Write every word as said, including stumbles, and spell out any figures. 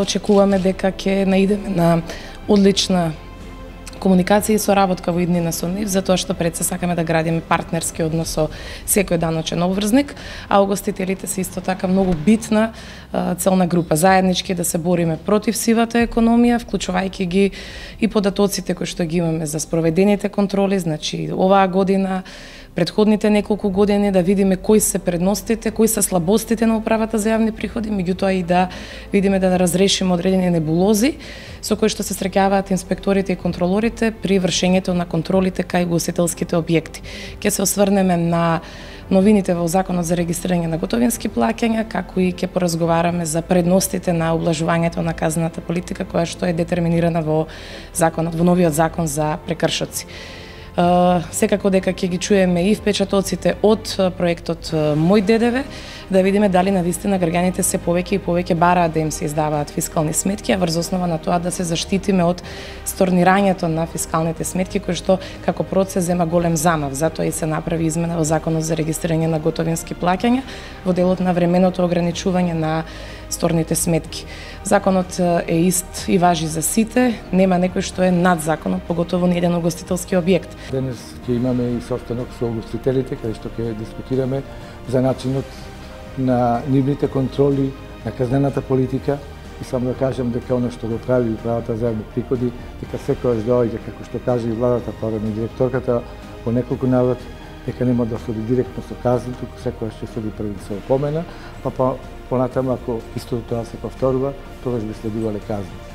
очекуваме дека ќе наидеме на одлична комуникација и соработка во иднина со нив, затоа што пред се сакаме да градиме партнерски однос со секој даночен обврзник, а угостителите се исто така многу битна целна група. Заеднички да се бориме против сивата економија, вклучувајќи ги и податоците кои што ги имаме за спроведените контроли, значи оваа година, предходните неколку години, да видиме кои се предностите, кои се слабостите на управата за јавни приходи, меѓутоа и да видиме да разрешиме одредени небулози со кои што се среќаваат инспекторите и контролорите при вршењето на контролите кај угостителските објекти. Ќе се осврнеме на новините во Законот за регистрирање на готовински плаќања, како и ќе поразговараме за предностите на облажувањето на казната политика која што е детерминирана во законот, во новиот закон за прекршоци. Uh, секако дека ќе ги чуеме и впечатоците од проектот Мој ДДВ, да видиме дали навистина граѓаните се повеќе и повеќе бараат да им се издаваат фискални сметки, а врз основа на тоа да се заштитиме од сторнирањето на фискалните сметки, кој што како процес зема голем замав. Затоа и се направи измена во Законот за регистрирање на готовински плаќања во делот на временото ограничување на сторните сметки. Законот е ист и важи за сите, нема некој што е над законот, поготово ни еден угостителски објект. Денес ќе имаме и состанок со угостителите, каде што ќе дискутираме за начинот на нивните контроли, на казнената политика. И само да кажам дека оно што го прави управата за јавни приходи, дека секојаш доаѓа, како што каже и владата, порано и директорката, по неколку наврати, дека нема да соди директно со казни, туку секојаш ќе соди први со опомена, па понатаму ако истото тоа се повторува, тогаш би следувале казни.